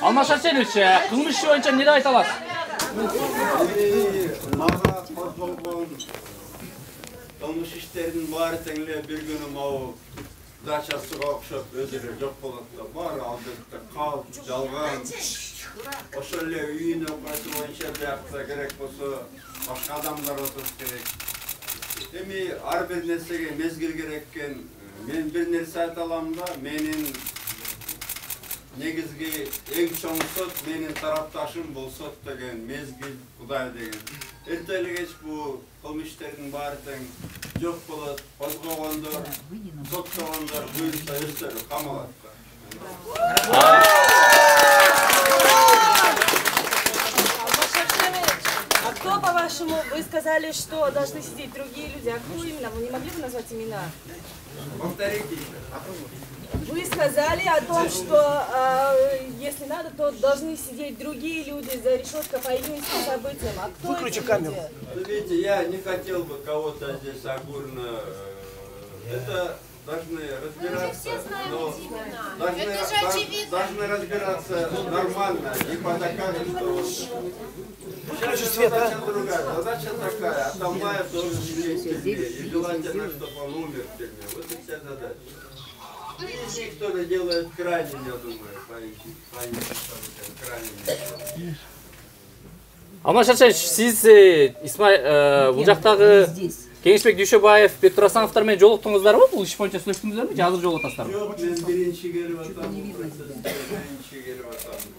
Алмаз Арсенович, кылмыш иши боюнча эмне деп айта аласыз? Мага козголгон кылмыш иштердин баары тең эле бир күнү могу дачасыга окшоп өзүрө жок болот да. Баары албетте калп, жалган. Ошол эле үйүнө окуясы боюнча биякта керек болсо башка адамдар отуруш керек. Эми ар бир нерсеге мезгил керек экен. Мен бир нерсе айта алам да, менин негизги эң чоң сот менин тарапташым бул сот деген мезгил Кудай деген. Эртеле кеч бул кылмыш иштердин баары тең жок болот. Козгогондор, соттогондор буюрса өздөрү камалат. А кто, по-вашему, вы сказали, что должны сидеть другие люди? А кто именно? Вы не могли бы назвать имена? Повторите. Вы сказали о том, что если надо, то должны сидеть другие люди за решеткой по июньским событиям. А кто Выключи камеру. Видите, я не хотел бы кого-то здесь огульно. Это должны разбираться, но должны разбираться нормально, не по заказу, что задача другая, задача такая, Атамбаев должен сидеть в тюрьме, и желательно, чтобы он умер в тюрьме. Вот и вся задача. И кто-то делает крайне, я думаю, крайне. Алмаз Арсенович, сиз бул жактагы Кеңешбек Дүйшөбаев, Бектур Асановдор менен жолуктуңуздарбы? Бул иш боюнча сүйлөштүңүздөрбү же азыр жолугатасыздарбы? Жок, мен биринчи келип атам.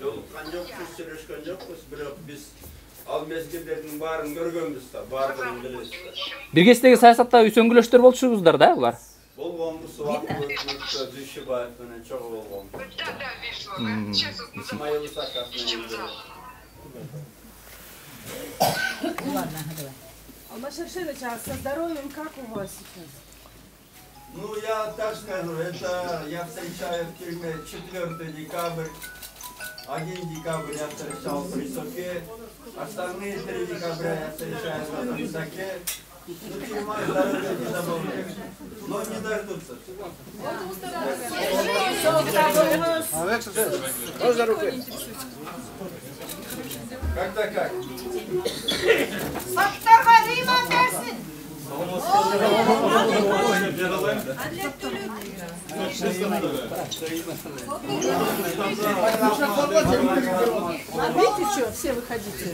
Жолуккан жокпуз, сүйлөшкөн жокпуз, бирок биз ал мезгилдердин баарын көргөнбүз да, баардыгын билебиз да. Биргесиздеги саясатта үйсөңгүлөштөр болчусуздар да булар? Болгонбуз, Дүйшөбаев менен чогуу болгон. Исмаил Исаков менен. Алмаз Арсенович, а со здоровьем как у вас сейчас? Ну, я так скажу, это я встречаю в тюрьме 4 декабрь, 1 декабрь я встречал в Присоке, остальные 3 декабря я встречаю на Присоке. Ну, тюрьма здоровья не добавляет, но не дождутся. Когда как? Видите, что? Все выходите.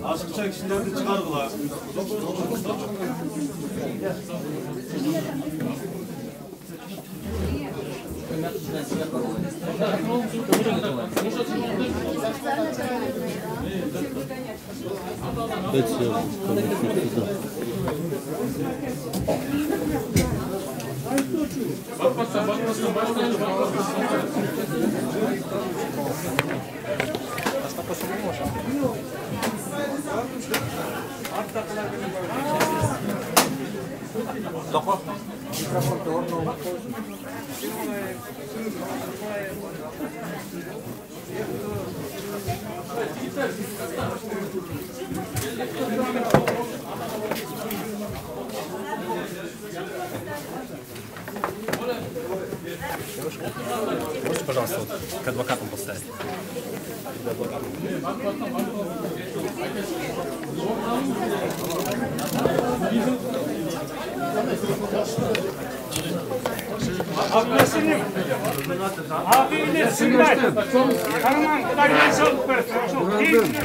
Ашыкча кишилерди чыгаргыла. Можете, пожалуйста, к адвокатам поставить? Abiyle sınır. Karman kadar yaşadık böyle.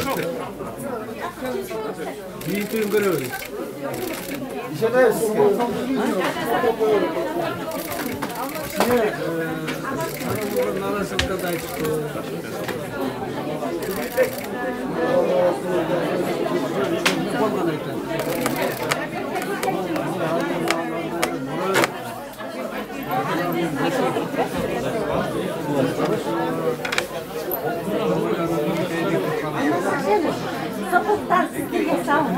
Çok Büyütün görüyoruz. Sapıktan sizlerle sağ olun.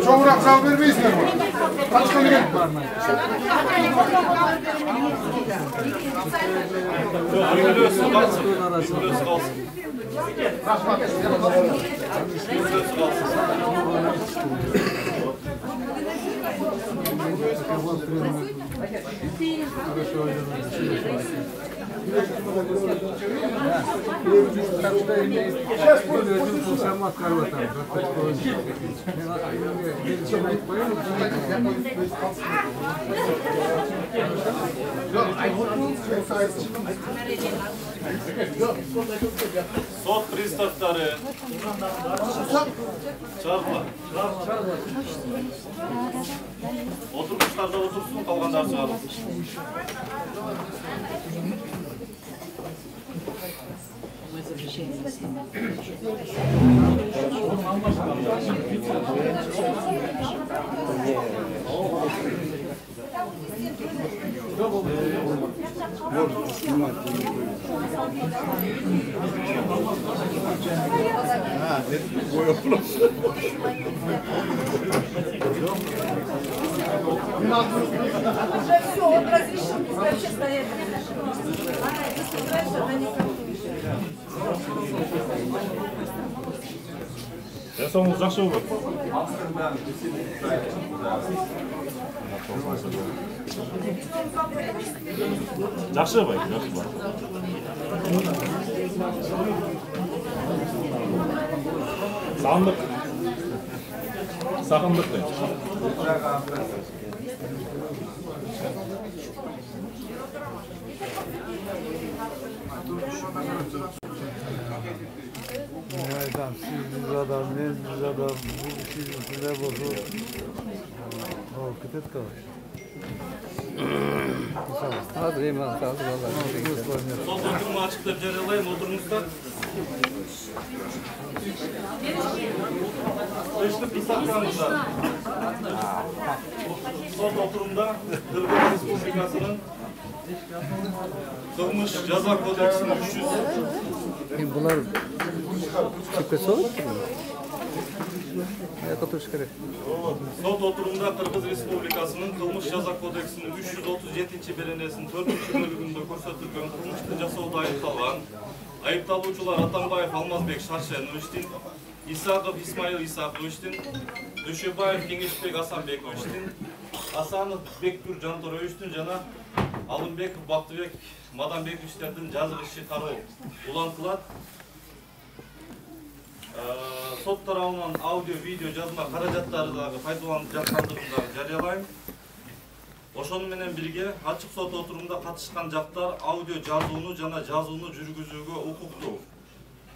Çoğurak sağ vermeyizler mi? Kaç tane gelip var mı? Biliyorsun kalsın. Biliyorsun kalsın. Sot pristavları çağırma. Oturmuşlar da otursun, kalganlar çağırın. Все, он разрешил вообще стоять. Жасауыңыз жақсы болды. Жақсы бай, жақсы бай. Сағындық. Сағындық дейді. Aydan siz adam, men biz adam, bu sizler bozulur. O kıtet kalır. Hazır eyvallah, hazır vallahi. Sol oturumu açıkta жарыялайын, oturmuşlar. Beşli pisaklarımızda. Sol oturumda Kırgız Respublikası'nın Kılmış Ceza Kodeksinin 300. Bunlar çıkısı olur mu? Oturuş gerek. Sot oturumda Kırgız Respublikası'nın Kılmış Ceza Kodeksinin 337. belenesinin 4. bölümünde көрсөтүлгөн кылмышты жасоодо айыпталган айыпталуучулар Атамбаев Алмазбек Шаршеновичтин, Исаков Исмаил Исаковичтин, Дүйшөбаев Кеңешбек Асанбековичтин, Асанов Бектур Жанторовичтин жана Алымбеков Бактыбек Маданбековичтердин жазык иши кароо улантылат. Сот тарабынан аудио, видео, жазма каражаттары дагы пайдаланып жаткандыгын дагы жарыялайм. Ошону менен бирге ачык сот отурумунда катышкан жактар аудио жазууну жана жазууну жүргүзүүгө укуктуу.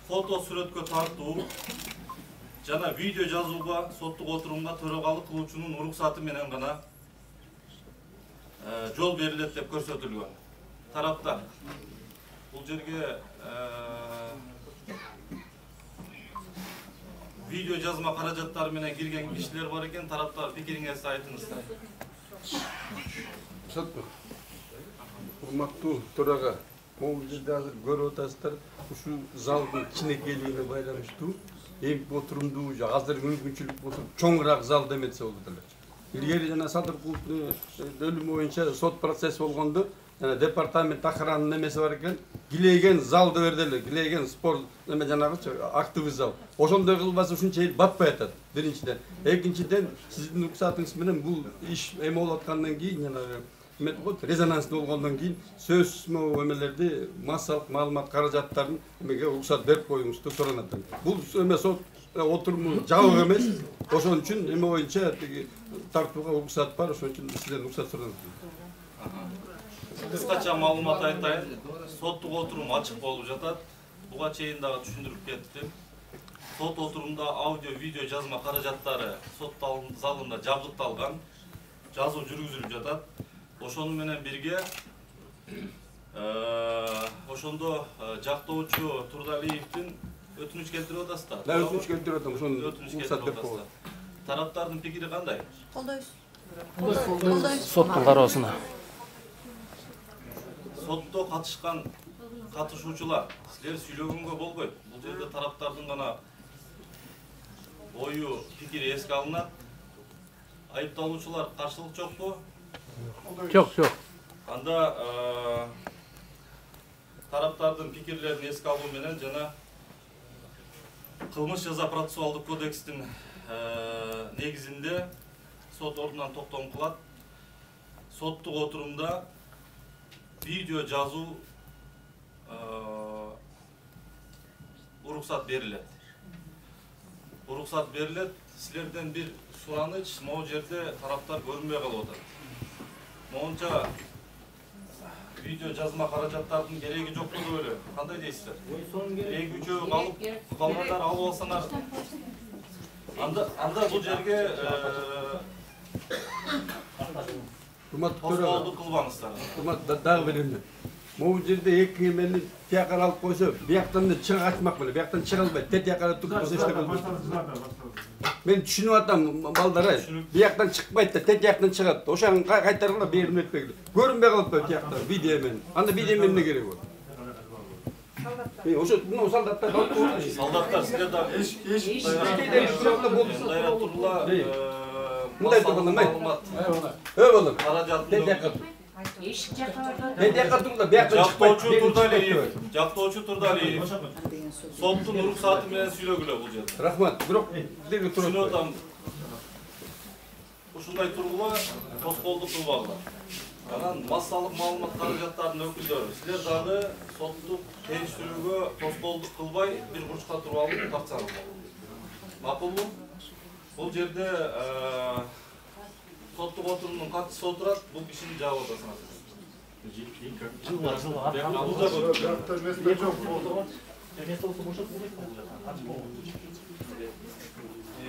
Фото сүрөткө тартуу жана видео жазууга соттук отурумга төрагалык кылуучунун уруксаты менен гана жол берилет деп көрсөтүлгөн. Тараптар бул жерге видео жазма каражаттары менен кирген кишилер бар экен. Тараптар пикириңизди айтыңыздар. Урматтуу төрага, могул жерде азыр көрүп атасыздар, ушул залдын кичинекейлигине байланыштуу эң отурумдуу, азыр мүмкүнчүлүк болсо чоңураак зал деметсе болот эле. Илгери жана Садыркуловдун өлүмү боюнча сот процесси болгондо, жана департамент охранынын немеси бар экен, килейген залды бердилер, килейген спорт неме жанагычы активный зал. Ошондой кылбаса ушунча эл батпай атат. Биринчиден, экинчиден сиздин уруксатыңыз менен бул иш эме болуп аткандан кийин жанагы резонанстуу болгондон кийин сөзсүз эмелерди массалык маалымат каражаттарын эмеге уруксат берип коюңузду суранат. Бул эме сот отуруму жабык эмес. Ошон үчүн эме боюнча тартууга уруксат бар, ошон үчүн сизден уруксат суранат. Кыскача маалымат айтайын. Соттук отурум ачык болуп жатат. Буга чейин дагы түшүндүрүп кеттим. Сот отурумда аудио, видео жазма каражаттары сот залында жабдыкталган. Жазуу жүргүзүлүп жатат. Ошону менен бирге ошондо жактоочу Турдалиевдин өтүнүч келтирип атасыздар. Да, өтүнүч келтирип атам, ошону өтүнүч келтирип атасыздар. Тараптардын пикири кандай? Колдойбуз. Соттун кароосуна. Сотто катышуучулар, силер сүйлөгөнгө болбойт. Бул жерде тараптардын гана ою, пикири эске алынат. Айыпталуучулар каршылык жокпу? Жок. Анда тараптардын пикирлерин эске алуу менен жана кылмыш жаза процессуалдык кодекстин негизинде сот ордунан токтом кылат. Соттук отурумда видео жазуу уруксат берилет. Уруксат берилет. Силерден бир сураныч, могу жерде тараптар көрүнбөй калып атат. Моунча видео жазма каражаттардын кереги жок деп ойлойм. Кандай дейсиздер? Эки үчөө калгандар алып алсаңар. Анда бул жерге тоскоолдук кылбаңыздар. Дагы беремин. Могул жерде эки эмени тияка алып койсо, бияктан да чыга качмак беле, бияктан чыга албайт. Тияка туруп койсо эч болбойт. Мен түшүнүп атам, балдар, бияктан чыкпайт да, тияктан чыгат. Ошону кайтаргыла берип өтпөйт. Көрүнбөй калып койт тиякта видео менен. Анда видео менен эмне кереги бар? Ошо мына солдаттар калып койду. Солдаттар силер да дайра турла мындай турганда маалымат. Балам. Каражаттын Эшик жакка жактоочу Турдалиев соттун уруксаты менен сүйлөгүлө бул жерде. Рахмат. Бирок деги туруп атам. Ушундай тургула тоскоолдук кылбагыла. Анан массалык маалымат каражаттарынын өкүлдөрү, силер дагы соттук териштирүүгө тоскоолдук кылбай бир бурчка туруп алып тартсаңыз. Макулбу? Бул жерде соттук отурумдун катчысы отурат, бул кишини жаап атасыңар.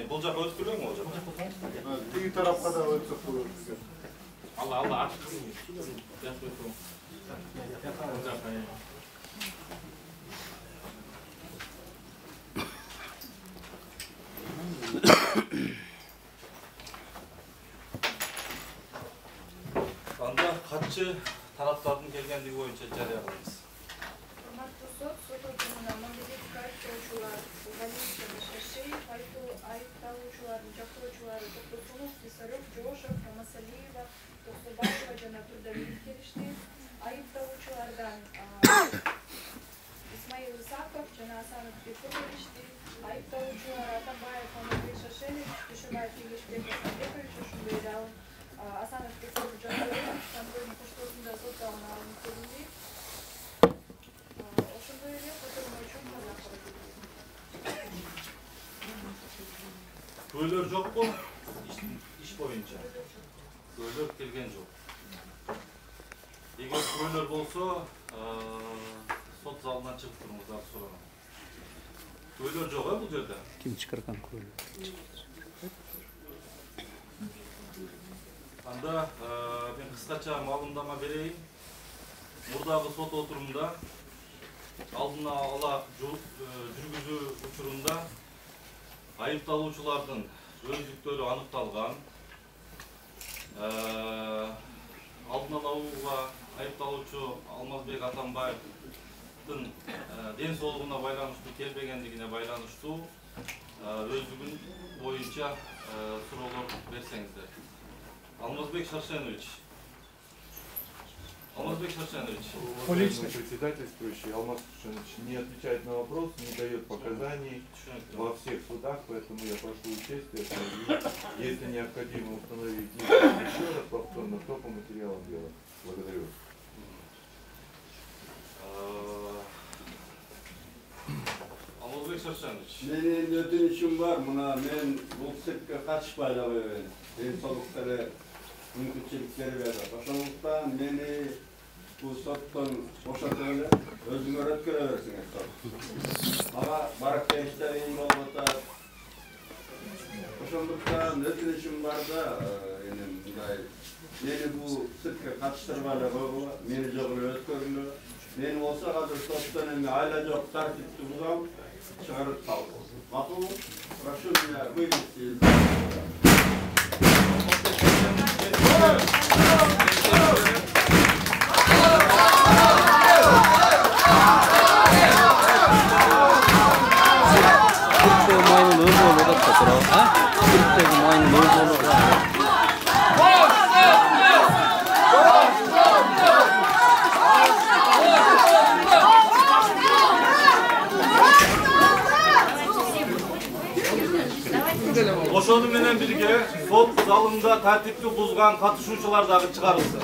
Бул жака өткүрбөйбү бул жака? Тиги тарапка да өтсөк болот. Алла ачык. Анда катчы тараптардын келгендиги боюнча жарыя кылабыз. Урматтуу сот, сот отурумунда мамлекеттик айыптоочулар Галиев, Шашеев, айыпталуучулардын жактоочулары Токтосулов, Писарев, Жошев, Рамасалиева, Токтобаева жана Турдалиев келишти. Айыпталуучулардан Исмаил Исаков жана Асанов Беков келишти. Айыпталуучулар Атамбаев, Маматбек Шашенов, Дүйшөбаев, Кеңешбек Асанбекович, ошондой эле Асанов Беков Жантөрөев контролдун коштоосунда сот залына алынып келинди. Ошондой эле отурум үчүн каза кылды. Күбөлөр жокпу? Иш боюнча. Күбөлөр келген жок. Эгер күбөлөр болсо, сот залынан чыгып туруңуздар суранам. Күбөлөр жок бул жерде. Ким чыгарган күбөлөр? Анда мен кыскача маалымдама берейин. Мурдагы сот отурумда алдын ала жүргүзүү учурунда айыпталуучулардын өздүктөрү аныкталган. Алдын ала айыпталуучу Алмазбек Атамбаевдин ден соолугуна байланыштуу келбегендигине байланыштуу өздүгүн боюнча суроолор берсеңиздер. Алмазбек Шаршенович. Председательствующий Алмаз Шаршенович не отвечает на вопрос, не дает показаний во всех судах, поэтому я прошу участия. Если необходимо установить еще раз повторно, то по материалам дела. Благодарю. Алмазбек Шаршенович. Менин өтүнүчүм бар. Мына мен бул циркке катышпай эле ден соолуктары мүмкүнчүлүктөр берди. Ошондуктан мени бул соттон бошотуп эле өзүңөр өткөрө берсиңер. Мага барып келиштер эң болуп атат. Ошондуктан өтүнүчүм бар да, эми мындай мени бул циркке катыштырбай эле койгула, мени жок эле өткөргүлө. Мени болсо азыр соттон эми айла жок тартипти бузам, чыгарып салды. Макулбу? Прошу меня вывести. Ошону менен бирге сот залында тартипти бузган катышуучулар дагы чыгарылсын.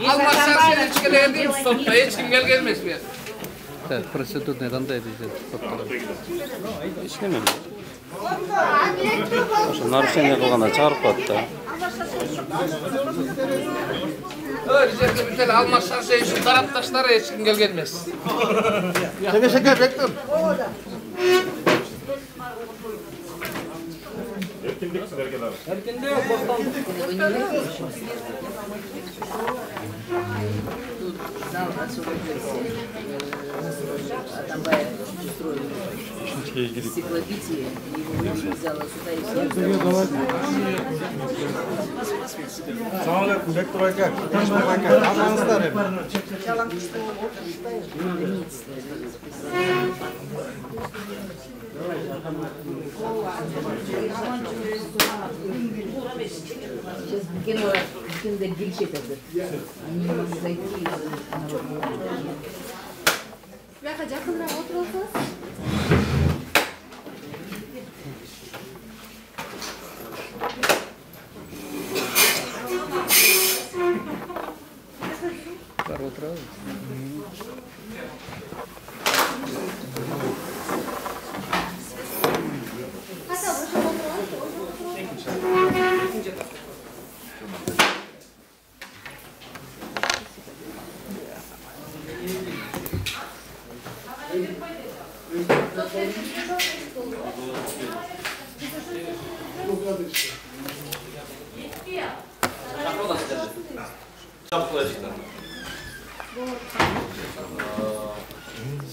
Алмаз Шаршеновичке келген сотто эч ким келген эмес бу. Процедурный кандай дейт? Эч неме. Ошо нарушение кылганда чыгарып коет да. Жерде бител Алмаз Шаршеновичтин тарапташтары эч ким келген эмес. Эркиндик силерге дагы. Эркиндик, бостандык. Атамбаев устроил стеклобитие, его взяла сюда и все. Assalomu alaykum, rektor aka, Kashmir aka, hammangizlar ham. Кино гильчет это. Они не могут зайти. Бяха жакыныраак отуруп алсаңыз. Бар отурабыз.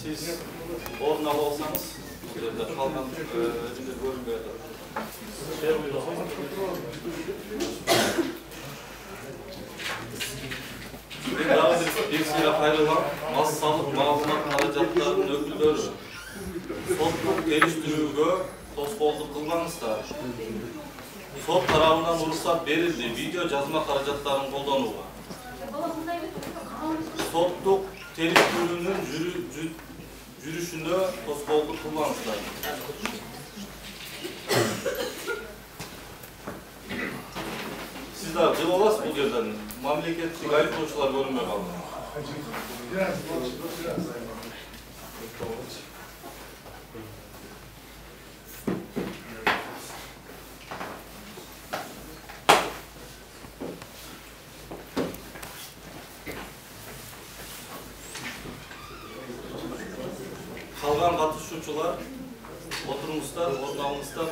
Siz orun alı olsanız, kalkan önünde görünmüyor. Daha bir sıra ayrılan massalık malumat karacatlarının öküldörü sotluk geliştirүүгө тоскоолдук кылмаңыздар. Сот тарабынан уруксат берилди видео жазма каражаттарын колдонууга. Соттук териштирүүнүн жүрүшүнө тоскоолдук кылмаңыздар. Siz de cıl olasınız bu yerden. Memleketçi ayıplıçlar görünmeye kaldı. калган катышуучулар отуруңуздар, орун алыңыздар.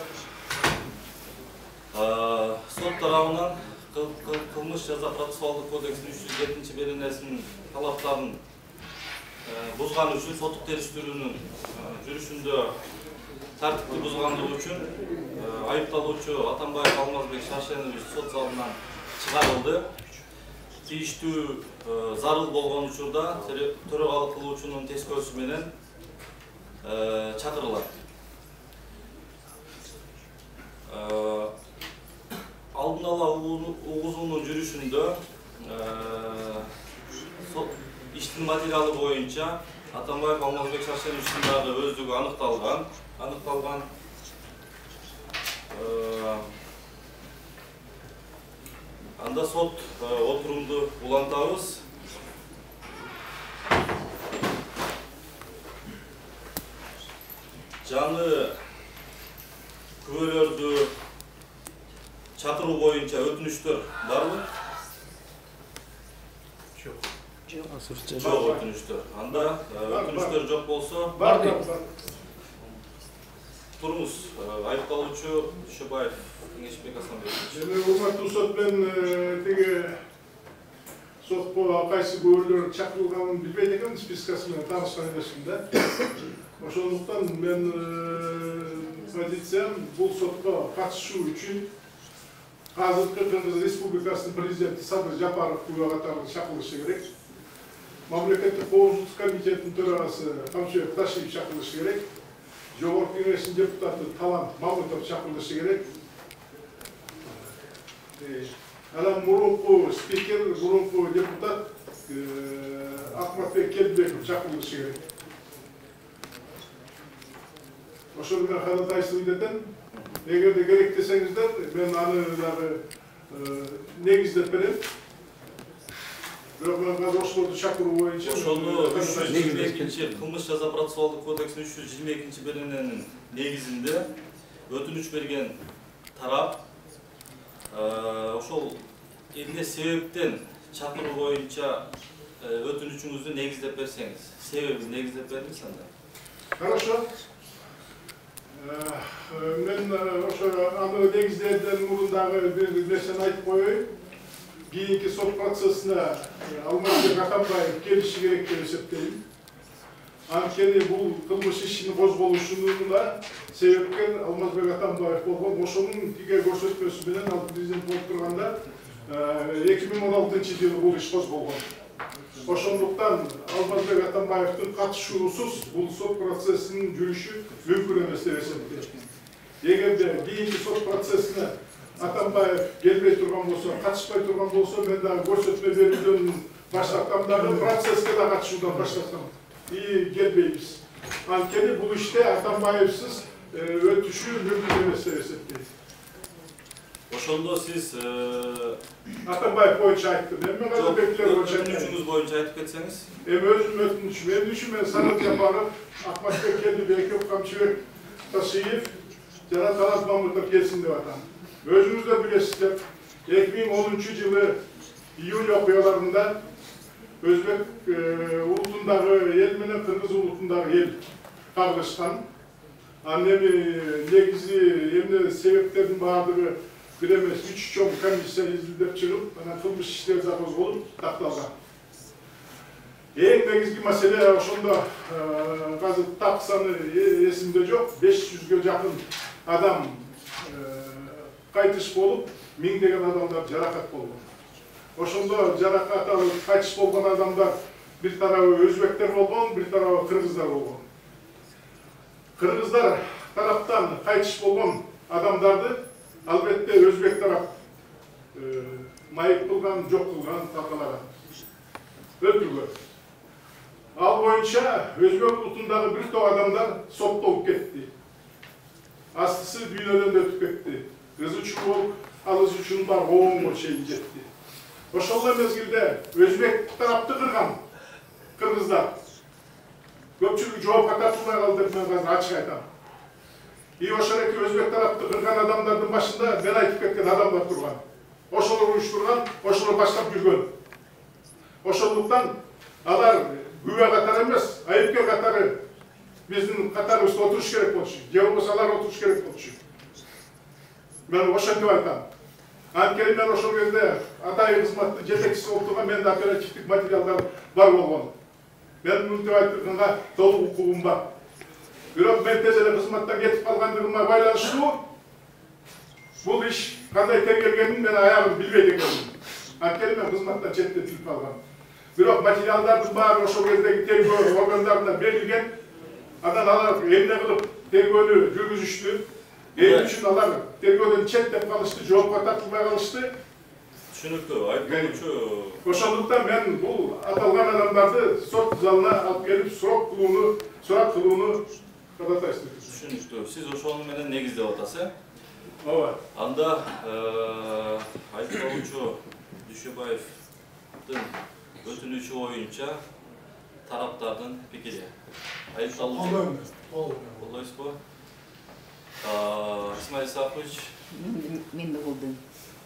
Сот тарабынан кылмыш жаза процессуалдык кодексинин 307-беренесинин талаптарын бузган үчүн соттук териштирүүнүн жүрүшүндө тартипти бузгандыгы үчүн айыпталуучу Атамбаев Алмазбек Шаршенович сот залынан чыгарылды. Тийиштүү зарыл болгон учурда төрагалык кылуучунун тескөөсү менен чакырылат. Алдын ала угузуунун жүрүшүндө иштин материалы боюнча Атамбаев Алмазбек Шаршеновичтин дагы өздүгү аныкталган. Анда сот отурумду улантабыз. Жаңы күбөлөрдү чакыруу боюнча өтүнүчтөр барбы? Жок, өтүнүчтөр. Анда өтүнүчтөр жок болсо, туруңуз, айыпталуучу Дүйшөбаев Кеңешбек Асанбекович. Урматтуу сот, мен теге сотко кайсы күбөлөр чакырылганын билбейт экен, спискасы менен таанышкан эмесмин да. Ошондуктан мен позициям бул сотко катышуу үчүн азыркы Кыргыз Республикасынын президенти Садыр Жапаров күбө катары чакырылышы керек. Мамлекеттик коопсуздук комитетинин төрагасы Камчыбек Ташиев чакырылышы керек. Жогорку Кеңештин депутаты Талант Мамытов чакырылышы керек. Анан мурунку спикер, мурунку депутат Акматбек Келбеков чакырылышы керек. Ошону мен кадатайсыз этем. Эгерде керек десеңиздер, мен аны дагы негиздеп берем. Бирок мен азыр ошолорду чакыруу боюнча ошону 322 кылмыш жаза процессуалдык кодексинин 322-берененин негизинде өтүнүч берген тарап ошол эмне себептен чакыруу боюнча өтүнүчүңүздү негиздеп берсеңиз, себебин негиздеп бериңиз анда. Хорошо. Мен ошо аны негиздерден мурун дагы бир нерсени айтып коеюн. Кийинки сот процессине Алмазбек Атамбаев келиши керек деп эсептейм. Анткени бул кылмыш ишинин козголушуна себепкер Алмазбек Атамбаев болгон. Ошонун тиге көрсөтмөсү менен ал президент болуп турганда 2016-жылы бул иш козголгон. Ошондуктан Алмазбек Атамбаевдин катышуусуз бул сот процессинин жүрүшү мүмкүн эмес деп эсептейм. Эгерде кийинки сот процессине Атамбаев келбей турган болсо, катышпай турган болсо, мен дагы көрсөтмө берүүдөн баштаткам, дагы процесске да катышуудан баштаткам. Келбейбиз. Анткени бул иште Атамбаевсиз өтүшүү мүмкүн эмес деп эсептейм. Ошондо сиз Атамбаев боюнча айттым. Мен Казакбектер боюнча айттым. Өтүнүчүңүз боюнча айтып кетсеңиз. Өзүм өтүнүчүм. Мен Садыр Жапаров, Акматбек Келбеков, Камчыбек Ташиев жана Талант Мамытов келсин деп атам. Өзүңүздөр билесиздер, 2010-жылы июль окуяларында Өзбек улутундагы эл менен Кыргыз улутундагы эл кагылышкан. Анан эми негизи эмне себептердин баардыгы бир эмес 3 чоң комиссия изилдеп чыгып, анан кылмыш иштери да козголуп такталган. Эң негизги маселе ошондо азыр так саны эсимде жок, 500ге жакын адам кайтыш болуп, миңдеген адамдар жаракат болгон. Ошондо жаракат алып кайтыш болгон адамдар бир тарабы өзбектер болгон, бир тарабы кыргыздар болгон. Кыргыздар тараптан кайтыш болгон адамдарды албетте өзбек тарап майып кылган, жок кылган, таркалаган, өлтүргөн. Ал боюнча өзбек улутундагы бир топ адамдар соттолуп кетти. Астысы дүйнөдөн өтүп кетти. Кызы үчүн болуп, алыс үчүн бар оңго чейин жетти. Ошол мезгилде өзбек тарапты кырган кыргыздар көпчүлүк жоопко тартылбай калды деп мен азыр ачык айтам. Ошол эки өзбек тарапты кырган адамдардын башында мен айтып кеткен адамдар турган. Ошолор уюштурган, ошолор баштап жүргөн. Ошондуктан алар күбө катары эмес, айыпкер катары биздин катарыбызда отуруш керек болчу, же болбосо алар отуруш керек болчу. Мен ошентип айтам. Анткени мен ошол кезде атайын кызматтын жетекчиси болуп турган, менде оперативдик материалдар бар болгон. Мен мынтип айтканга толук укугум бар. Бирок мен тез эле кызматтан кетип калгандыгыма байланыштуу бул иш кандай тергелгенин мен аягын билбейт экенмин. Анткени мен кызматтан четтетилип калгам. Бирок материалдардын баары ошол кездеги тергөө органдарына берилген. Анан алар эмне кылып тергөөнү жүргүзүштү. Эми үчүн алар тергөөдөн четтеп калышты, жоопко тартылбай калышты. Түшүнүктүү, айтканчу. Ошондуктан мен бул аталган адамдарды сот залына алып келип сурап кылууну кадатайсыз. Түшүнүктүү. Сиз ошону менен негиздеп атасыз, Ооба. Анда айыпталуучу Дүйшөбаевдин өтүнүчү боюнча тараптардын пикири. Айыпталуучу колдойсузбу? Исмаил Исакович. Мен да колдойм.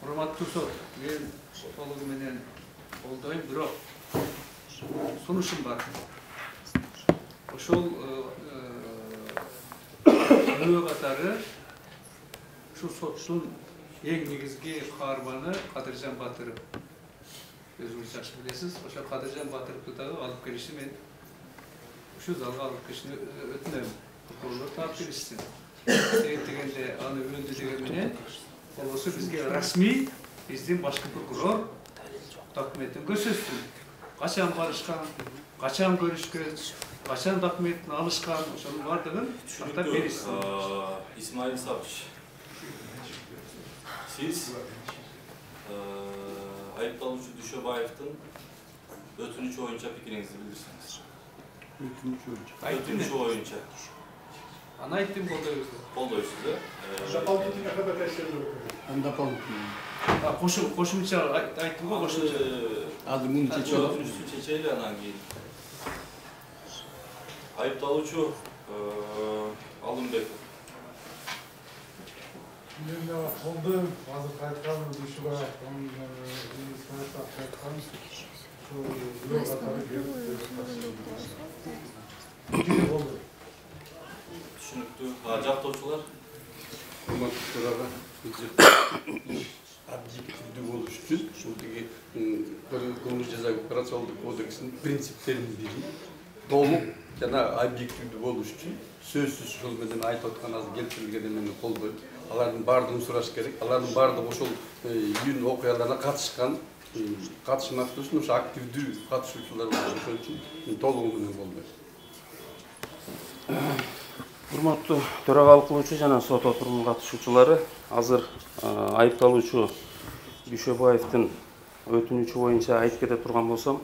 Урматтуу сот, мен толугу менен колдойм, бирок сунушум бар. Ошол күбө катары ушул соттун эң негизги каарманы Кадыржан Батыров. Өзүңүз жакшы билесиз. Ошо Кадыржан Батыровду дагы алып келишти, мен ушул залга алып келишти өтүнөм. Прокурорлор таап беришсин. Дегенде аны өлдү деген менен болбосо бизге расмий биздин башкы прокурор документин көрсөтсүн. Качан барышкан, качан көрүшкөн, качан документин алышкан, ошонун бардыгын тактап беришсин. Исмаил Исакович, сиз айыпталуучу Дүйшөбаевдин өтүнүчү боюнча пикириңизди билдирсеңиз. Өтүнүчү боюнча. Аны айттым, колдойбуз. Колдойсуз, Дополнительно ходатайство. Кошумча айттым го, кошумча. Азыр муну чечели. Өтүнүчтү чечели анан кийин. Айыпталуучу Алымбеков. Мен да колдойм, азыр айткан Дүйшөбаев Түшүнүктүү. Жактоочулар? Урматтуу төрага, объективдүү болуш үчүн ушул тиги кылмыш жаза операциялдык кодексинин принциптерин толук жана объективдүү болуш үчүн сөзсүз ушул менен айтып аткан азыр келтирилген эмени колдойм. Алардын баардыгын сураш керек. Алардын баардыгы ошол июнь окуяларына катышкан, катышмактуу үчүн ошо активдүү катышуучулар болуп, ошон үчүн мен толугу менен колдойм. Урматтуу төрагалык кылуучу жана сот отурумуна катышуучулары, азыр айыпталуучу Дүйшөбаевдин өтүнүчү боюнча айтып кете турган болсом,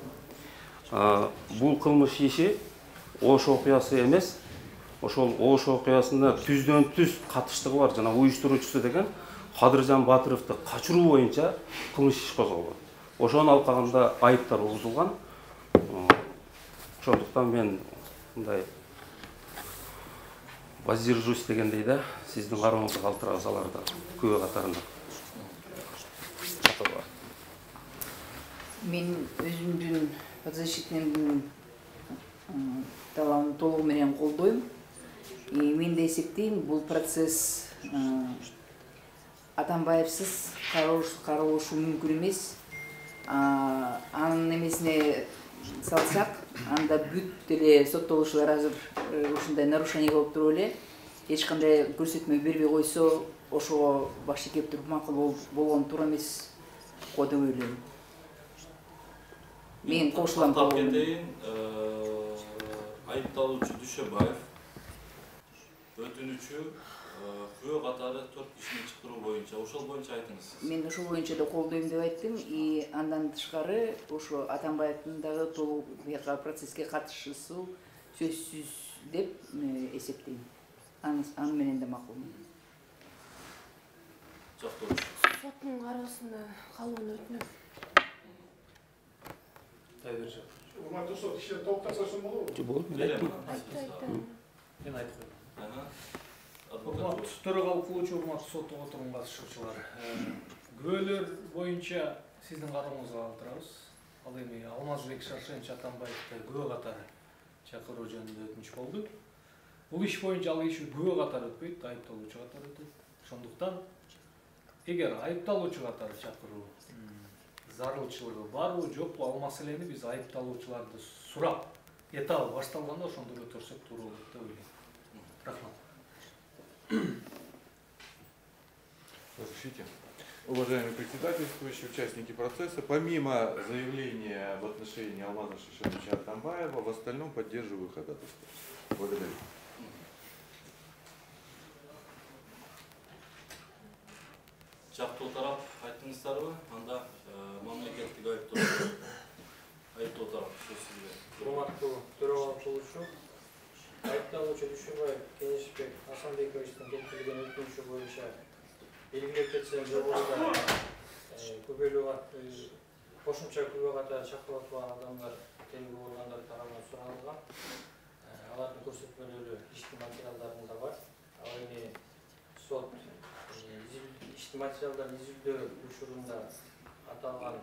бул кылмыш иши Ош окуясы эмес, ошол Ош окуясына түздөн түз катыштыгы бар жана уюштуруучусу деген Кадыржан Батыровду качыруу боюнча кылмыш иш козголгон. Ошонун алкагында айыптар угузулган. Ошондуктан мен мындай воздержусь дегендей да, сиздин карооңузга калтырабыз аларды күбө катарында. Мен өзүмдүн подзащитныймдын талабын толугу менен колдойм. Мен да эсептейм, бул процесс Атамбаевсыз каралышы мүмкүн эмес. Анын эмесине салсак, анда бүт эле соттолуучулар азыр ушундай нарушение болуп туруп эле эч кандай көрсөтмө бербей койсо, ошого баш ийкеп туруп макул болгон туура эмес го деп ойлойм. Мен кошулам. Айыпталуучу Дүйшөбаев өтүнүчү күбө катары 4 кишини чакыруу боюнча, ошол боюнча айтыңыз. Мен ошол боюнча да колдойм деп айттым. Андан тышкары ошо Атамбаевдин дагы толук процесске катышуусу сөзсүз деп эсептейм. Аны менен да макулмун. Жактоочу. Соттун кароосуна калууну өтүнөм. Тайберже. Урматтуу сот, иште токтосоң болобу? Болот, мен айттым. Мен айтып койдум. Урматтуу төрагалык кылуучу, урматтуу соттун отурумуна катышуучулар. Күбөлөр боюнча сиздин карооңузга калтырабыз. Ал эми Алмазбек Шаршенович Атамбаевди күбө катары чакыруу жөнүндө өтүнүч болду. Бул иш боюнча ал иш күбө катары өтпөйт, айыпталуучу катары өтөт. Ошондуктан эгер айыпталуучу катары чакыруу зарылчылыгы барбы жокпу, ал маселени биз айыпталуучуларды сурап, этабы башталганда ошондо көтөрсөк туура болот деп ойлойм. Рахмат. Разрешите? Уважаемые председательствующие, участники процесса, помимо заявления в отношении Алмаза Шишевича Атамбаева, в остальном поддерживаю ходатайство. Благодарю. Жактуу тарап айттыңыздарбы? Анда мамлекеттик айыптоо тарап сөз сизде. Урматтуу төрагачылыгы, айыпталуучу Дүйшөбаев Кенешбек Асанбековичтин келтирилген өтүнүшү боюнча белгилеп кетсем, жогоруда күбөлүү кошумча күбө катары чакырып отурган адамдар тергөө органдары тарабынан суралган. Алардын көрсөтмөлөрү иштин материалдарында бар. Ал эми сот иштин материалдарын изилдөө учурунда аталган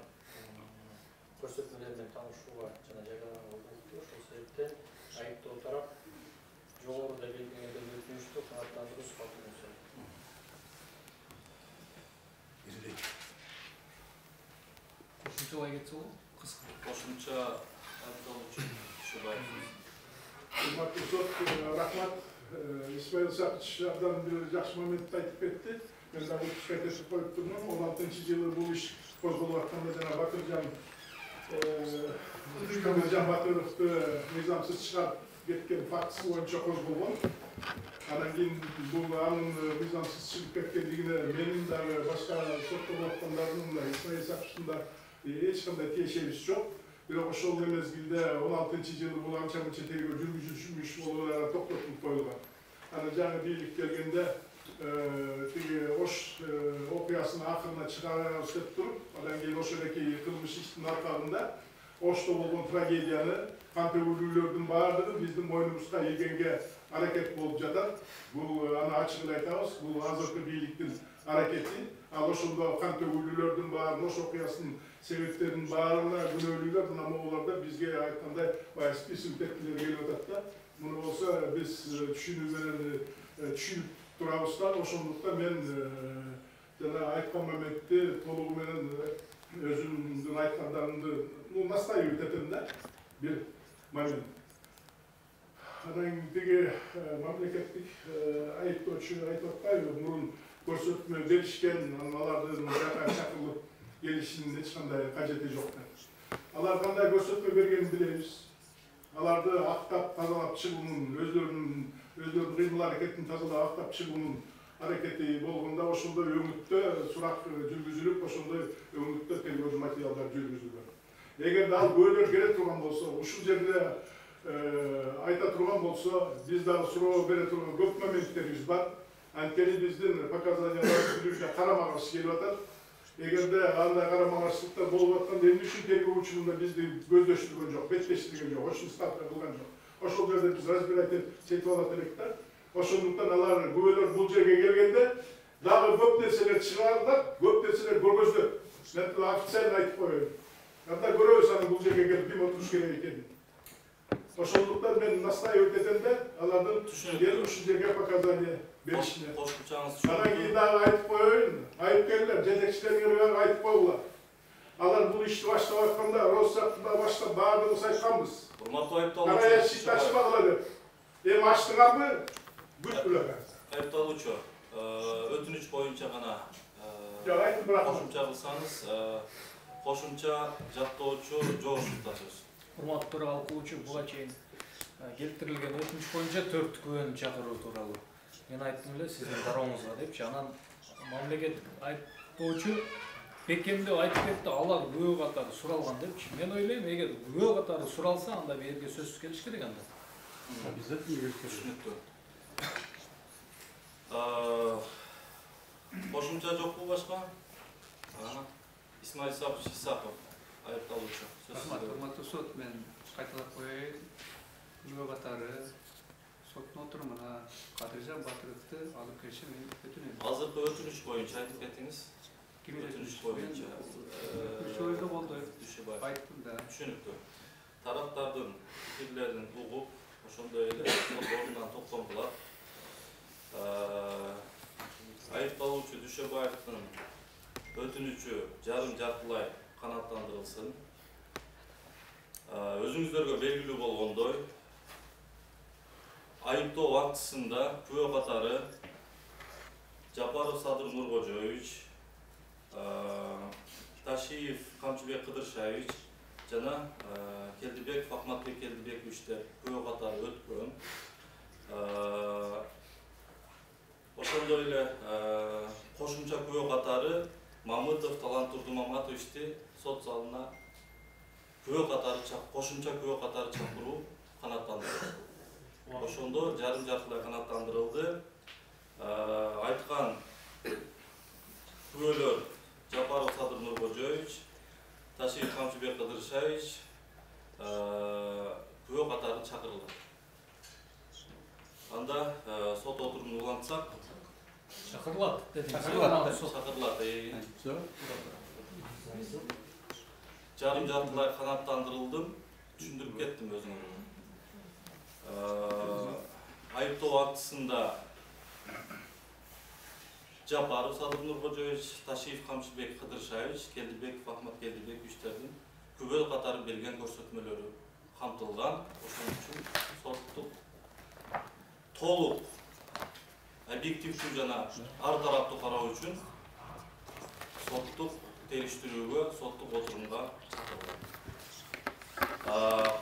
көрсөтмөлөр менен таанышууга жана жайланууга болду. Ошол себептен айыптоо тарап жогоруда белгиленген өтүнүштү канааттандыруу сапатында сұрайды. Кошумчалай кетсе болот, кыска. Кошумча айыпталуучу Дүйшөбаев. Урматтуу сот, рахмат. Исмаил Сакыч абдан бир жакшы моментти айтып кетти. Мен дагы кайтып коюп турмун. 16-жылы бул иш козголуп атканда жана Батыржан Батыровду мыйзамсыз чыгарып кеткен фактысы боюнча козголгон. Анан кийин бул анын мыйзамсыз чыгып кеткендигине менин дагы башка соттогон аткандардын да Исмаил Сакычтын да эч кандай тиешебиз жок. Бирок ошол мезгилде 16-жылы бул анча мынча тергөө жүргүзүлмүш болуп токтотуп коюлган. Анан жаңы бийлик келгенде тиги Ош окуясынын акырына чыгарабыз деп туруп, андан кийин ошондой кылмыш иштин аркасында Ошто болгон трагедияны, кан төгүлүүлөрдүн баардыгы биздин мойнубузга ийгенге аракет болуп жатат. Бул аны ачык эле айтабыз, бул азыркы бийликтин аракети. Ал ошондо кан төгүлүүлөрдүн баарын, Ош окуясынын себептеринин баарына күнөөлүүлөр, мынамолордо бизге айткандай баягы список тектилер келип атат да. Муну болсо биз түшүнүү менен түшүнүп турабыз да. Ошондуктан мен жана айткан моментти толугу менен өзүмдүн айткандарымды настаивать этем да, бир момент. Анан тиги мамлекеттик айыптоочу айтып атпайбы, мурун көрсөтмө беришкен, алардын жака чакырылып келишинин эч кандай кажети жок деп. Алар кандай көрсөтмө бергенин билебиз. Аларды актап тазалап чыгуунун, өздөрүнүн кыймыл аракетин тазалап актап чыгуунун аракети болгондо ошондой өңүттө сурак жүргүзүлүп, ошондой өңүттө тергөө материалдар жүргүзүлгөн. Эгерде ал көөлөр келе турган болсо, ушул жерде айта турган болсо, биз дагы суроо бере турган көп моменттерибиз бар. Анткени биздин показанияларыбызга карама-каршы келип атат. Эгерде андай карама-каршылыктар болуп атканда эмне үчүн тергөө учурунда бизди көздөштүргөн жок, беттештирген жок, ошону ставка кылган жок. Ошол жерде биз разбирать этип алат элек да. Ошондуктан алар күбөлөр бул жерге келгенде дагы көп нерселер чыгарылат, көп нерселер көргөзүлөт. Мен официально айтып коеюн. Анда көрөбүз анын бул жерге келип ким отуруш керек экенин. Ошондуктан мен настаивать этем да, алардын келип ушул жерге показания беришине. Анан кийин дагы айтып коеюн, айыпкерлер, жетекчилерге айтып койгула. Алар бул ишти баштап атканда, Росстаттан баштап баардыгыбыз айтканбыз. Урматтуу айыпталуучу. Кара эшикти ачпагыла деп. Эми ачтыңарбы? Айыпталуучу, өтүнүч боюнча гана кошумча кылсаңыз, кошумча жактоочу жоошукта сөз. Урматтуу төрагачылыгы, буга чейин келтирилген өтүнүч боюнча 4 күбөнү чакыруу тууралуу мен айттым эле сиздин карооңузга депчи. Анан мамлекеттик айыптоочу бекемдеп айтып кетти, алар күбө катары суралган депчи. Мен ойлойм, эгер күбө катары суралса, анда берге сөзсүз келиш керек анда. Обязательно түшүнүктүү. Кошумча жокпу башка? Исмаил Исаков, айыпталуучу. Урматтуу сот, мен кайталап коеюн. Күбө катары соттун отурумуна Кадыржан Батыровду алып келиши мен өтүнөм. Азыркы өтүнүч боюнча айтып кеттиңиз. Ким өтүнүч боюнча? Дүйшөбаев болду. Дүйшөбаев. Айттым да. Түшүнүктүү. Тараптардын пикирлерин угуп, ошондой эле сот ордунан токтотулат. Айыпталуучу Дүйшөбаевдин өтүнүчү жарым-жартылай канааттандырылсын. Өзүңүздөргө белгилүү болгондой, айыптоо актысында күбө катары Жапаров Садыр Нуркожоевич, Ташиев Камчыбек Кыдыршаевич жана Келдибеков Ахматбек Келдибековичтер күбө катары өткөн. Ошондой эле кошумча күбө катары Мамытов Талант Турдумаматовичти сот залына күбө катары кошумча күбө катары чакыруу канааттандырылды. Ошондо жарым-жартылай канааттандырылды. Айткан күбөлөр Жапаров Садыр Нуркожоевич, Ташиев Камчыбек Кыдыршаевич күбө катары чакырылды. Анда сот отурумун улантсак, чакырылат. Жарым-жартылай канааттандырылдым, түшүндүрүп кеттим өзүңөргө. Айыптоо актысында Жапаров Садыр Нуркожоевич, Ташиев Камчыбек Кыдыршаевич, Келдибеков Ахмат Келдибековичтердин күбө катары берген көрсөтмөлөрү камтылган. Ошон үчүн соттук толук объективдүү жана ар тараптуу кароо үчүн соттук териштирүүгө, соттук отурумга чакырылды.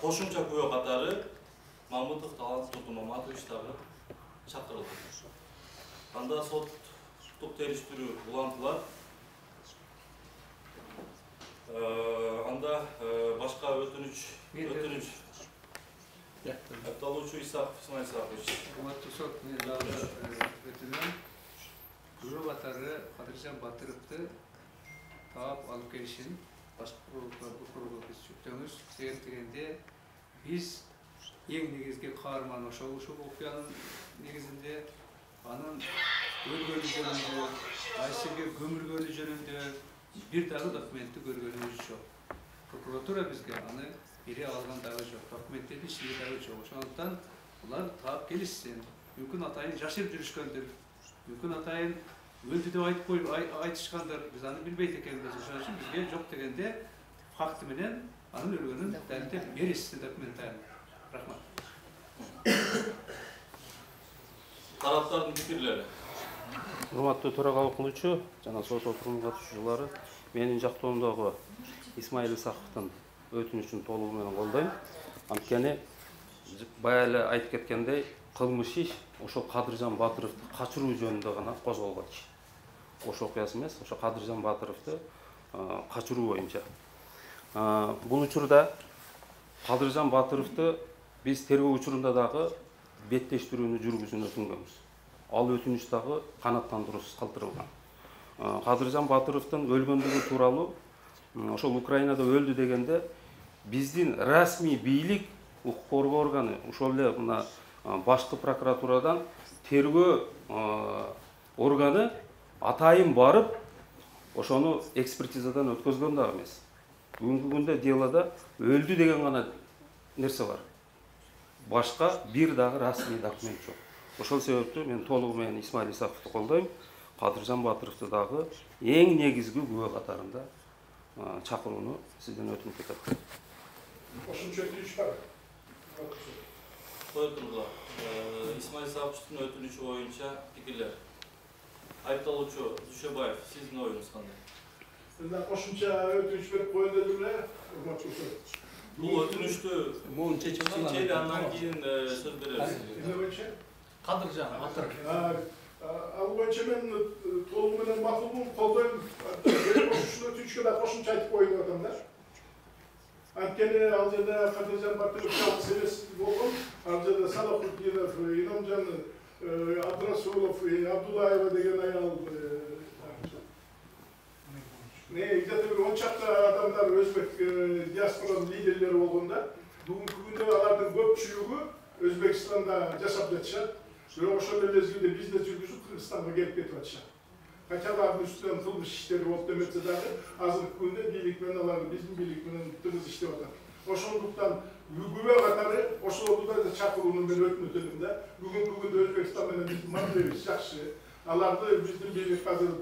Кошумча күбө катары Мамытов Талант Турдумаматович дагы чакырылды. Анда соттук териштирүү улантылат. Анда башка өтүнүч Айыпталуучу Исаков Исмаил Исакович. Урматтуу сот, мен дагы өтүнөм. Күбө катары Кадыржан Батыровду таап алып келишин башкы прокурорго биз жүктөбүз. Себеп дегенде биз эң негизги каарман ошол окуянын негизинде анын өлгөнү жөнүндө, кайсыге көмүлгөнү жөнүндө бир дагы документти көргөнүбүз жок. Прокуратура бизге аны бере алган дагы жок. Документтерди ишине дагы жок. Ошондуктан булар таап келишсин. Мүмкүн атайын жашырып жүрүшкөндүр. Мүмкүн атайын өлдү деп айтып коюп айтышкандыр. Биз аны билбейт экенбиз. Ошон үчүн бизге жок дегенде факты менен анын өлгөнүн далилдеп беришсин документально. Рахмат. Тараптардын пикирлери. Урматтуу төрага кылуучу жана сот отурумуна катышуучулары, менин жактоомдогу Исмаил Исаковдун өтүнүчүн толугу менен колдойм. Анткени бая эле айтып кеткендей, кылмыш иш ошол Кадыржан Батыровду качыруу жөнүндө гана козголгон иш. Ошол окуясы эмес, ошо Кадыржан Батыровду качыруу боюнча. Бул учурда Кадыржан Батыровду биз тергөө учурунда дагы беттештирүүнү жүргүзүүнү өтүнгөнбүз. Ал өтүнүч дагы канааттандыруусуз калтырылган. Кадыржан Батыровдун өлгөндүгү тууралуу ошол Украинада өлдү дегенде биздин расмий бийлик, укук коргоо органы, ошол эле мына башкы прокуратурадан тергөө органы атайын барып, ошону экспертизадан өткөзгөн дагы эмес. Бүгүнкү күндө делода өлдү деген гана нерсе бар. Башка бир дагы расмий документ жок. Ошол себептен мен толугу менен Исмаил Исаковду колдойм. Кадыржан Батыровду дагы эң негизги күбө катарында чакырууну сизден өтүнүп кетет. Кошумча өтүнүч бар. Коюлду. Исмаил Исаковичтин өтүнүчү боюнча пикирлер. Айыпталуучу Дүйшөбаев, сиздин оюңуз кандай? Мында кошумча өтүнүч берип коюн дедим эле. Бул өтүнүчтү чечели андан кийин сөз беребиз. Кадыржан Батыров. Ал боюнча мен толугу менен макулмун, колдойм. Ушул өтүнүчкө да кошумча айтып коюн деп атам да. Анткени ал жерде Кадыржан Батыров жалгыз эмес болгон, ал жерде Салахутдинов, Иномжан Абдрасулов, Абдулаева деген аял, где-то бир 10 чакты адамдар өзбек диаспоранын лидерлери болгондо, бүгүнкү күндө алардын көпчүлүгү Өзбекстанда жашап жатышат. Бирок ошол эле мезгилде бизнес жүргүзүп Кыргызстанга келип кетип атышат. Хотя алардын үстүнөн кылмыш иштери болуп деметсе дагы азыркы күндө бийлик менен алар биздин бийлик менен тыгыз иштеп атат. Ошондуктан күбө катары ошолорду да чакырууну мен өтүнөм да. Бүгүнкү күндө Өзбекстан менен биздин мамилебиз жакшы. Аларды биздин бийлик азыр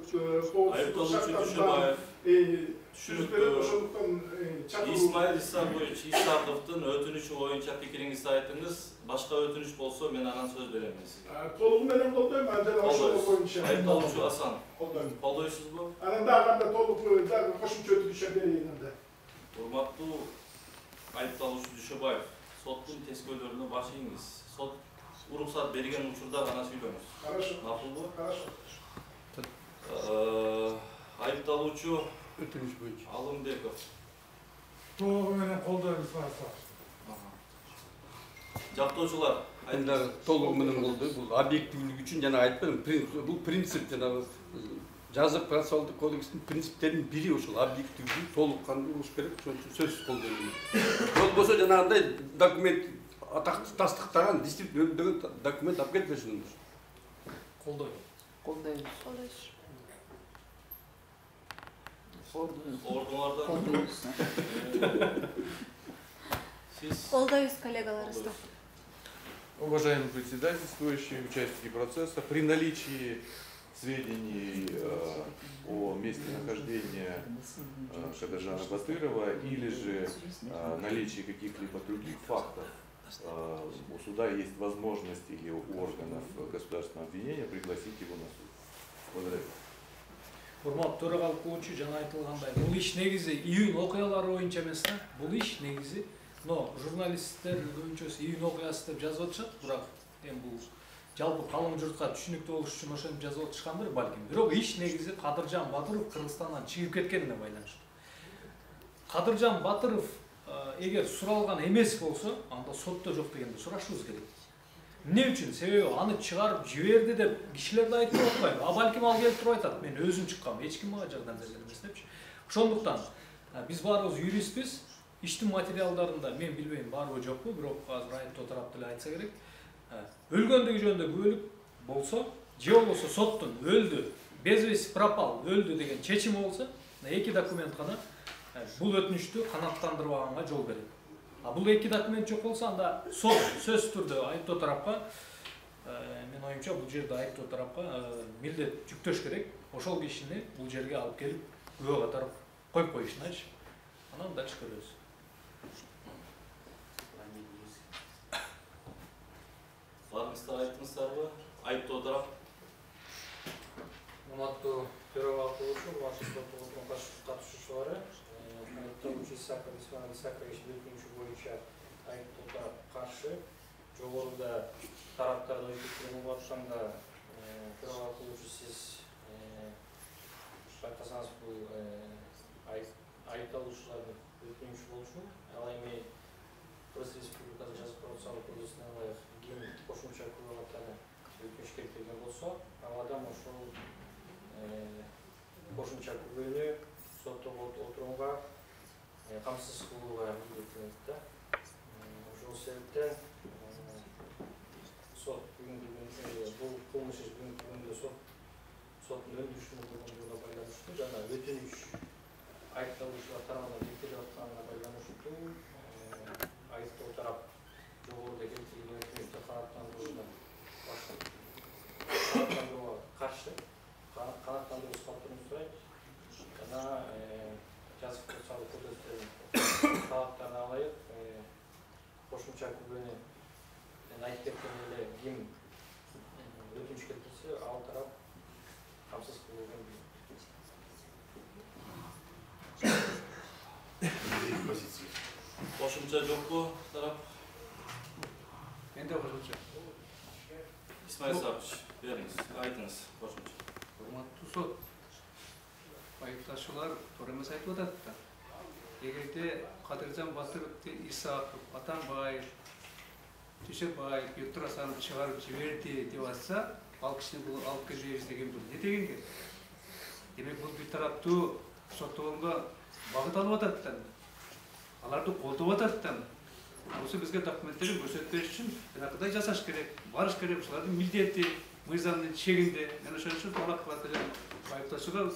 Исмаил Исаковдун өтүнүчү боюнча пикириңизди айтыңыз. Башка өтүнүч болсо мен анан сөз берем сизге. Толугу менен колдойм, анан ошол боюнча. Айыпталуучу Асан. Колдойм. Колдойсузбу? Анан дагы толук дагы кошумча өтүнүш берейин анда. Урматтуу айыпталуучу Дүйшөбаев, соттун тескөөлөрүнө баш ийиңиз. Сот уруксат берген учурда гана сүйлөңүз. Хорошо. Макулбу? Хорошо. Айыпталуучу өтүнүш боюнча Алымбеков. Толугу менен колдойбуз Асан. Жактоочулар, айтыңдар толугу менен колдойм. Бул объективдик үчүн жана айтпадым, бул принцип жана жазык процессуалдык кодекстин принциптеринин бири ошол объективдүү толук кандуу болуш керек. Ошон үчүн сөзсүз колдойм. Болбосо жанагындай документ тастыктаган действительно өлдөгөн документ алып келип берсиңиз. Колдойм. Колдойбуз. Ордуңардан Сиз колдойбуз коллегаларыбызды. Уважаемый председательствующий, участники процесса, при наличии сведений о месте нахождения Кадыржана Батырова или же наличии каких-либо других фактов, у суда есть возможность или у органов государственного обвинения пригласить его на суд. Благодарю. Урматтуу төрагалык кылуучу жана айтылгандай, бул иш негизи июнь окуялары боюнча эмес да. Бул иш негизи, но журналисттер көбүнчөсү июнь окуясы деп жазып атышат, бирок эми бул жалпы калың журтка түшүнүктүү болуш үчүн ошентип жазып атышкандыр балким. Бирок иш негизи Кадыржан Батыров Кыргызстандан чыгып кеткенине байланыштуу. Кадыржан Батыров эгер суралган эмес болсо, анда сотто жок дегенди сурашыбыз керек. Эмне үчүн? Себеби аны чыгарып жиберди деп кишилер да айтып атпайбы? А балким ал келип туруп айтат, мен өзүм чыккам, эч ким мага жардам берген эмес депчи. Ошондуктан биз баарыбыз юристпиз. Иштин материалдарында мен билбейм барбы жокпу, бирок азыр айыптоо тарап деле айтса керек. Өлгөндүгү жөнүндө күбөлүк болсо, же болбосо соттун өлдү, без вести пропал, өлдү деген чечими болсо, эки документ гана бул өтүнүштү канааттандырбаганга жол берет. А бул эки документ жок болсо, анда сот сөзсүз түрдө айыптоо тарапка, мен оюмча бул жерде айыптоо тарапка милдет жүктөш керек. Ошол кишини бул жерге алып келип күбө катары коюп коюшуначы. Анан дальше көрөбүз. Барыңыздар айттыңыздарбы? Айыптоо тарап. Урматтуу төрагалык кылуучу, урматтуу соттун катышуучулары, айыпталуучу Исаков Исмаил Исакович өтүнүшү боюнча айыптоо тарап каршы. Жогоруда тараптарды өтүп атканда төрагалык кылуучу сиз байкасаңыз бул айыпталуучулардын өтүнүшү болчу. Ал эми Кыргыз Республикасы жазык процессуалдык кодексине ылайык ким кошумча күбө катары өтүнүш келтирген болсо, ал адам ошол кошумча күбөнү соттогу отурумга камсыз кылууга милдеттенет да. Ошол себептен сот бул кылмыш иш бүгүнкү күндө соттун өндүрүшүнө болгондугуна байланыштуу жана өтүнүш айыпталуучулар тарабынан бекитилип атканына байланыштуу айыптоо тарап жогоруда келтирилген өтүнүштү канааттандырууга каршы канааттандыруу калтырууну сурайт жана жазык процессуалдык кодекстин талаптарына ылайык кошумча күбөнү мен айтып кеткен эле ким өтүнүш келтирсе ал тарап камсыз кылууга Кошумча жокпу тарап? Менде кошумча. Исмаил Исакович, бериңиз, айтыңыз кошумча. Урматтуу сот, айыпташуулар туура эмес айтып атат да. Эгерде Кадыржан Батыровду Исаков, Атамбаев, Дүйшөбаев, Бектур Асанов чыгарып жиберди деп атса, ал кишини бул алып келбейбиз деген бул эмне дегенге? Демек бул бир тараптуу соттогонго багыт алып атат да. Аларды колдоп атат да. Осы бизге документтерин көрсөтүп бериш үчүн жанагыдай жасаш керек, барыш керек. Ушулардын милдети мыйзамдын чегинде. Мен ошон үчүн талап кылат элем. Айыптоочуга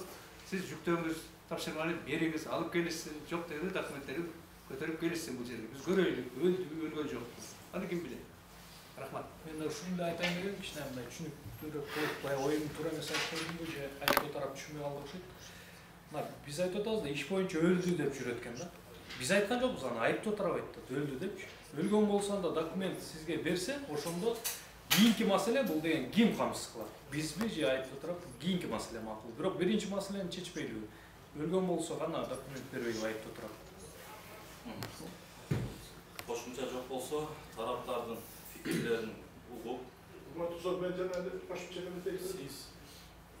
сиз жүктөөңүз, тапшырманы бериңиз, алып келишсин, жок дегенде документтерин көтөрүп келишсин бул жерге. Биз көрөйлүк, өлдүбү, өлгөн жокпуз. Аны ким билет? Рахмат. Мен ушундай айтайын дегем, кичине мындай түшүнүктүүрөөк болуп, баягы оюмду туура эмес айтып койдумбу же айтып тарап түшүнбөй калды окшойт. Мына биз айтып атабыз да, иш боюнча өлдү деп жүрөт экен да. Биз айткан жокпуз, аны айыптоо тарап айтты, өлдү депчи. Өлгөн болсо да документ сизге берсе, ошондо кийинки маселе бул деген ким камсыз кылат? Бизби же айыптоо тарап кийинки маселе макул. Бирок биринчи маселени чечпейлиби? Өлгөн болсо гана документ бербейби айыптоо тарап? Кошумча жок болсо, тараптардын фикирлерин угуп, мен жана кошумча эмес. Сиз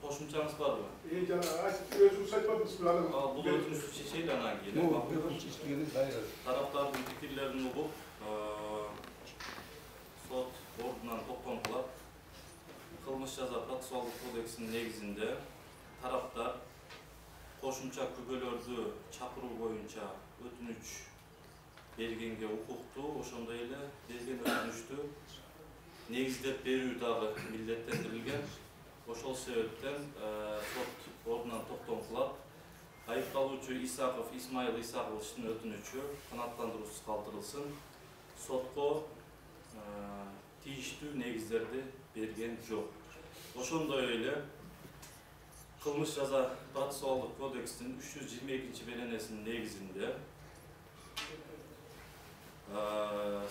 кошумчаңыз барбы? Жана өзүңүз айтпадыңызбы аны? Бул өтүнүштү чечели анан кийин. Тараптардын фикирлерин угуп, сот ордунан токтом кылат. Кылмыш жаза процессуалдык кодексинин негизинде тараптар кошумча күбөлөрдү чакыруу боюнча өтүнүч бергенге укуктуу, ошондой эле берген өтүнүчтү негиздеп берүү дагы милдеттендирилген. Ошол себептен сот ордунан токтом кылат. Айыпталуучу Исмаил Исаковичтин өтүнүчү канааттандыруусуз калтырылсын. Сотко тийиштүү негиздерди берген жок. Ошондой эле кылмыш жаза процессуалдык кодекстин 322 беренесинин негизинде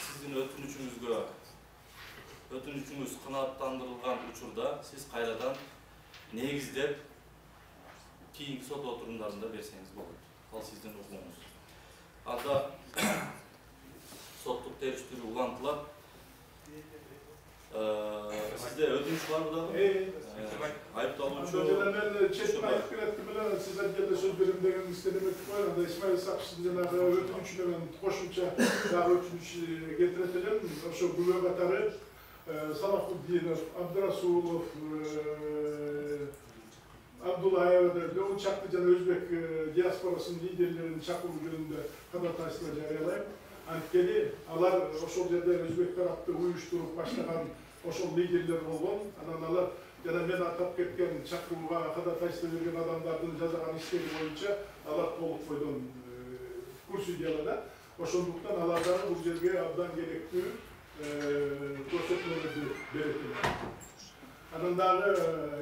сиздин өтүнүчүңүз канааттандырылган учурда сиз кайрадан негиздеп кийинки сот отурумдарында берсеңиз болот. Ал сиздин укугуңуз. Анда соттук териштирүү улантылат. Сизде өтүнүч барбы дагы? Айыпталуучу мен чечим айтып келеттим эле, сиз анткенде сөз берем дегениңизди эметип коюлганда Исмаил Исаковичтин жанагы өтүнүчү менен кошумча дагы өтүнүч келтирет элем. Ошо күбө катары Салахуддинов, Абдырасулов, Абдулаева бул чакты жана өзбек диаспорасынын лидерлерин чакыруу жөнүндө кадатайство жарыялайм. Анткени алар ошол жерде өзбек тарапты уюштуруп баштаган ошол лидерлер болгон. Анан алар жана мен атап кеткен чакырууга кадатайство берген адамдардын жазган иштери боюнча алар толук бойдон курсудиялада. Ошондуктан алар дагы бул жерге абдан керектүү көрсөтмөлөрдү берет эле. Анан дагы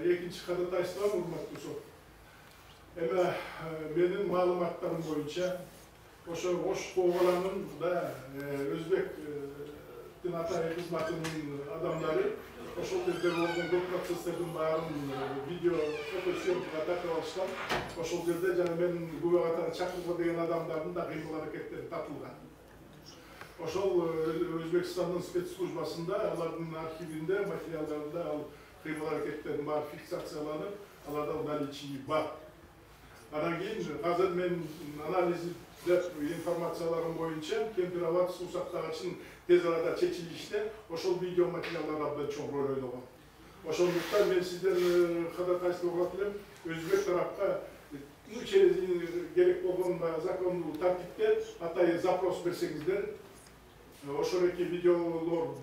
экинчи кадатайство, урматтуу сот. Эме менин маалыматтарым боюнча ошо Ош Коогаланын өзбектин атайын кызматынын адамдары ошол жерде болгон көп процесстердин баарын видео фотосъемкага тартып алышкан. Ошол жерде жана мен күбө катары чакыргы деген адамдардын да кыймыл аракеттери тапылган. Ошол Өзбекстандын спецслужбасында алардын архивинде, материалдарында ал кыймыл аракеттердин баары фиксацияланып, аларда наличии бар. Анан кийин азыр мен анализ информацияларым боюнча Кемпироват суу сактагычын тез арада чечилиште ошол видео материалдар абдан чоң роль ойногон. Ошондуктан мен сизден кадатайство кылат элем, өзбек тарапка через керек болгон закондуу тартипте атайын запрос берсеңиздер, ошол эки видеолор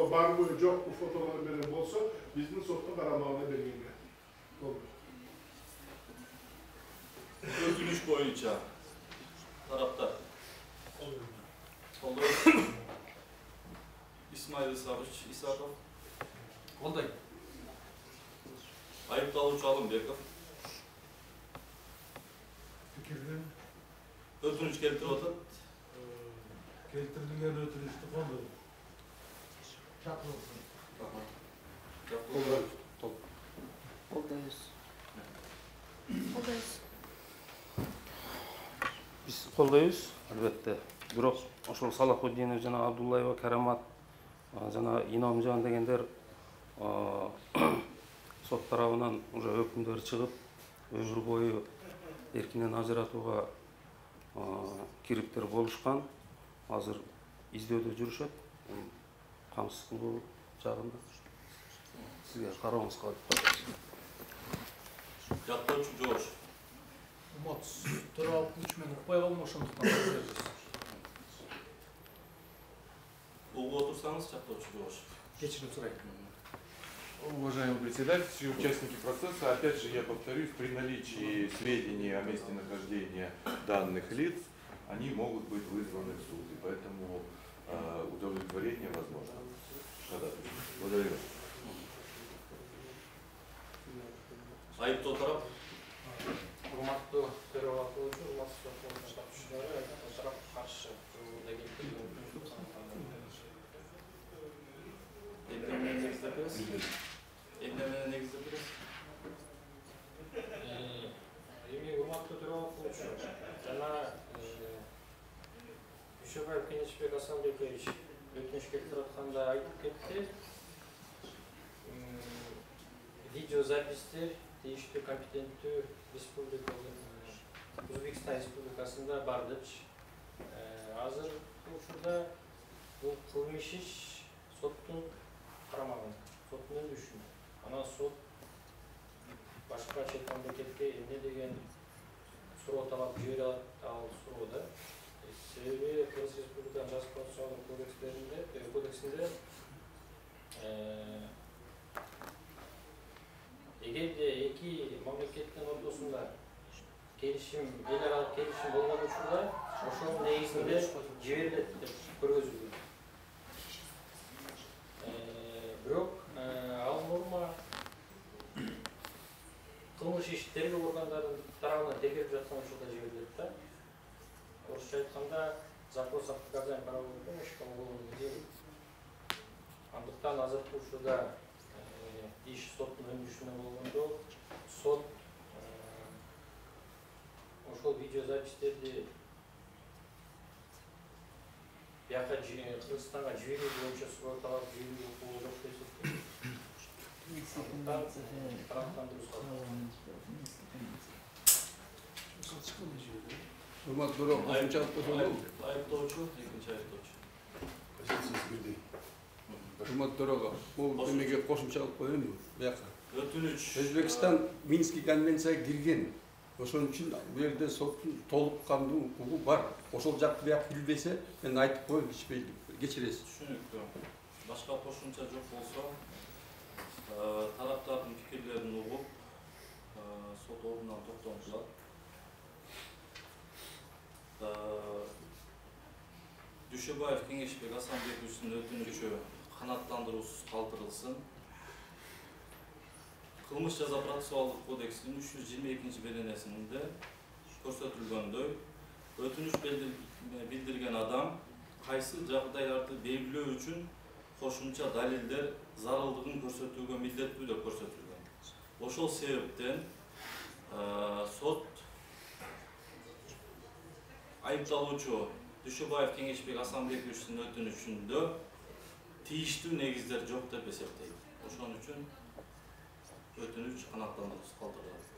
барбы жокпу фотолор менен болсо, биздин соттун карамагына бергенге болот. Өтүнүч боюнча тараптар колдойт. Исмаил Исаков колдойт. Айыпталуучу Алымбеков пикирден өтүнүч келтирип атат. Келтирилген өтүнүчтү колдойт. Чакырылсын. Колдойбуз. Колдойбуз. Биз колдойбуз, албетте. Бирок ошол Салахуддинов жана Абдуллаева, Карамат жана Иномжан дегендер сот тарабынан уже өкүмдөр чыгып, өмүр бою эркинен ажыратууга кириптер болушкан. Азыр издөөдө жүрүшөт. Камсыз кылуу жагында сизге карооңузга калат. Жактоочу жоош. Туралык үчүн укпай калдым, ошондуктан угуп отурсаңыз, жактоочу жоош. Кечирим сурайт. Уважаемый председатель, все участники процесса, опять же я повторюсь, при наличии сведений о месте нахождения данных лиц, они могут быть вызваны в суд, и поэтому удовлетворение возможно. Благодарю. Айыптоо тарап. Урматтуу төрага кылуучу, урматтуу сот катышуучулары, тарап каршы жолдо келтирген эми урматтуу төрага кылуучу жана Дүйшөбаев Кенечбек Асанбекович өтүнүш келтирип атканда айтып кетти. Видеозапистер тийиштүү компетенттүү Өзбекстан Республикасында бар депчи. Азыр учурда бул кылмыш иш соттун карамагында, соттун өндүрүшүндө. Анан сот башка чет мамлекетке эмне деген суроо талап жибере алат, ал суроодо. Себеби Кыргыз Республиканын жазык процессуалдык кодексинде эгерде эки мамлекеттин ортосунда келишим, эл аралык келишим болгон учурда ошонун негизинде жиберилет деп көргөзүлгөн. Бирок ал норма кылмыш иш тергөө органдарынын тарабынан тергелип жаткан учурда жиберилет да. Орусча айтканда запрос о оказании правовой помощи по уголовному делу. Андыктан азыркы учурда иш соттун өндүрүшүндө болгондо сот ошол видеозапистерди бияка Кыргызстанга жиберүү боюнча суроо талап жиберүү укугу жок деп эсептейт. Урматтуу төрага кошумча айтып Айыптоочу, экинчи айыптоочу. Урматтуу төрага, бул эмеге кошумча алып коелу бияка. Өтүнүч. Өзбекстан Минский конвенцияга кирген. Ошон үчүн бул жерде соттун толук кандуу укугу бар. Ошол жакты бияк билбесе, мен айтып коем, кечиресиз. Түшүнүктүү. Башка кошумча жок болсо, тараптардын пикирлерин угуп, сот ордунан токтотулат. Дүйшөбаев Кеңешбек Асанбековичтин өтүнүчү канааттандыруусуз калтырылсын. Кылмыш жаза процессуалдык кодексинин 322 беренесинде көрсөтүлгөндөй, өтүнүч билдирген адам кайсы жагдайларды белгилөө үчүн кошумча далилдер зарылдыгын көрсөтүүгө милдеттүү деп көрсөтүлгөн. Ошол себептен сот айыпталуучу Дүйшөбаев Кеңешбек Асанбековичтин өтүнүчүндө тийиштүү негиздер жок деп эсептейт. Ошон үчүн өтүнүч канааттандыруусуз калтырылат.